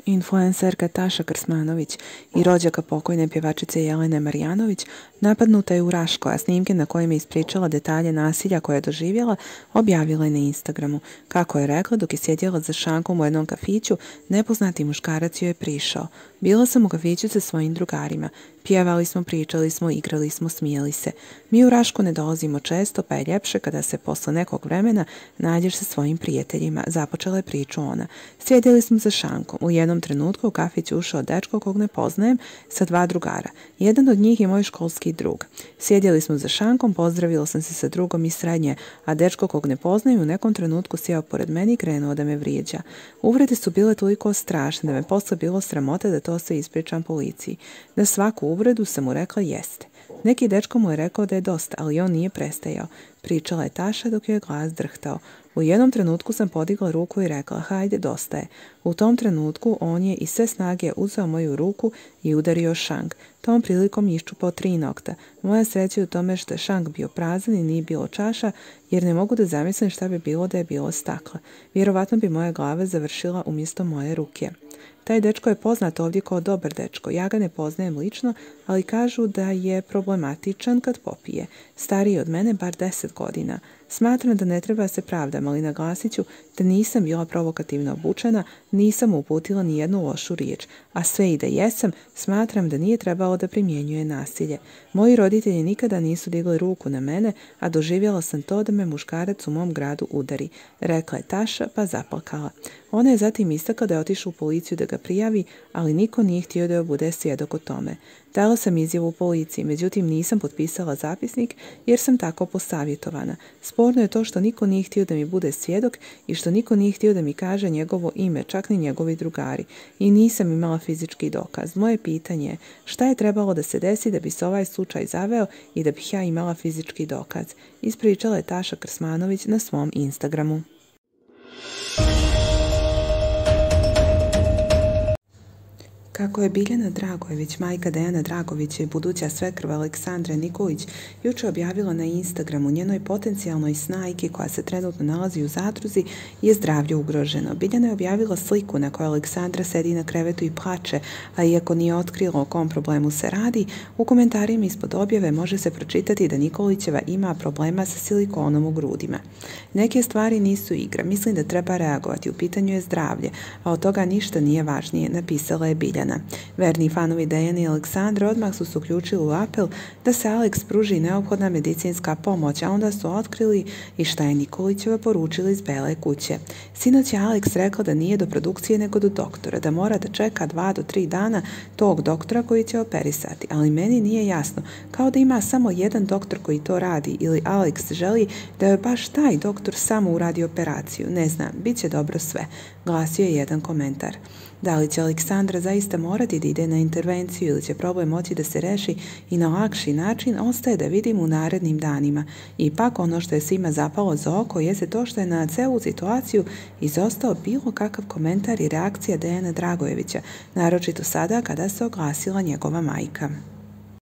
Influencerka Taša Krsmanović i rođaka pokojne pjevačice Jelene Marjanović napadnuta je u Raškoj, a snimke na kojima je ispričala detalje nasilja koje je doživjela objavila je na Instagramu. Kako je rekla, dok je sjedjela za šankom u jednom kafiću, nepoznati muškarac joj je prišao. Bila sam u kafiću sa svojim drugarima. Pjevali smo, pričali smo, igrali smo, smijeli se. Mi u Rašku ne dolazimo često, pa je ljepše kada se posle nekog vremena nađeš sa svojim prijateljima. Započela je priču ona. Sjedjeli smo za šankom. U jednom trenutku u kafić ušao dečko kog ne poznajem sa dva drugara. Jedan od njih je moj školski drug. Sjedjeli smo za šankom, pozdravila sam se sa drugom iz srednje, a dečko kog ne poznajem u nekom trenutku sjeo pored meni i krenuo da me vrijeđa. Uvrede su bile toliko strašne da me posle bilo sramota da to se ispričam policiji. Na svaku uvredu sam mu rekla jeste. Neki dečko mu je rekao da je dosta, ali on nije prestajao. Pričala je Taša dok joj je glas drhtao. U jednom trenutku sam podigla ruku i rekla, hajde, dosta je. U tom trenutku on je iz sve snage uzeo moju ruku i udario šank. Tom prilikom iščupao 3 nokta. Moja sreća je u tome što je šank bio prazan i nije bilo čaša, jer ne mogu da zamislim šta bi bilo da je bilo stakla. Vjerovatno bi moja glava završila umjesto moje ruke. Taj dečko je poznat ovdje kao dobar dečko. Ja ga ne poznajem lično, ali kažu da je problematičan kad popije. Stariji od mene bar 10 godina. Smatram da ne treba se pravdam, ali naglasit ću da nisam bila provokativno obučena, nisam uputila ni jednu lošu riječ, a sve i da jesam, smatram da nije trebalo da primjenjuje nasilje. Moji roditelji nikada nisu digli ruku na mene, a doživjela sam to da me muškarac u mom gradu udari, rekla je Taša pa zaplakala. Ona je zatim istakla da je otišla u policiju da ga prijavi, ali niko nije htio da joj bude svjedok o tome. Dala sam izjavu u policiji, međutim nisam potpisala zapisnik jer sam tako posavjetovana. Sporno je to što niko nije htio da mi bude svjedok i što niko nije htio da mi kaže njegovo ime, čak ni njegovi drugari. I nisam imala fizički dokaz. Moje pitanje je šta je trebalo da se desi da bi se ovaj slučaj zaveo i da bih ja imala fizički dokaz. Ispričala je Taša Krsmanović na svom Instagramu. Kako je Biljana Dragojević, majka Dejana Dragovića i buduća svekrva Aleksandra Nikolić, jučer objavila na Instagramu, njenoj potencijalnoj snajki koja se trenutno nalazi u zadruzi je zdravlje ugroženo. Biljana je objavila sliku na kojoj Aleksandra sedi na krevetu i plače, a iako nije otkrila o kom problemu se radi, u komentarima ispod objave može se pročitati da Nikolićeva ima problema sa silikonom u grudima. Neke stvari nisu igra, mislim da treba reagovati, u pitanju je zdravlje, a od toga ništa nije važnije, napisala je Biljana. Verni fanovi Dejane i Aleksandra odmah su se uključili u apel da se Aleks pruži neophodna medicinska pomoć, a onda su otkrili i šta je Nikolićeva poručila iz Bele kuće. Sinoć je Aleks rekao da nije do produkcije nego do doktora, da mora da čeka 2 do 3 dana tog doktora koji će operisati, ali meni nije jasno, kao da ima samo jedan doktor koji to radi ili Aleks želi da je baš taj doktor samo uradi operaciju. Ne znam, bit će dobro sve, glasio je jedan komentar. Da li će Aleksandra zaista morati da ide na intervenciju ili će problem moći da se reši i na lakši način, ostaje da vidim u narednim danima. Ipak ono što je svima zapalo za oko jeste to što je na celu situaciju izostao bilo kakav komentar i reakcija Dejana Dragojevića, naročito sada kada se oglasila njegova majka.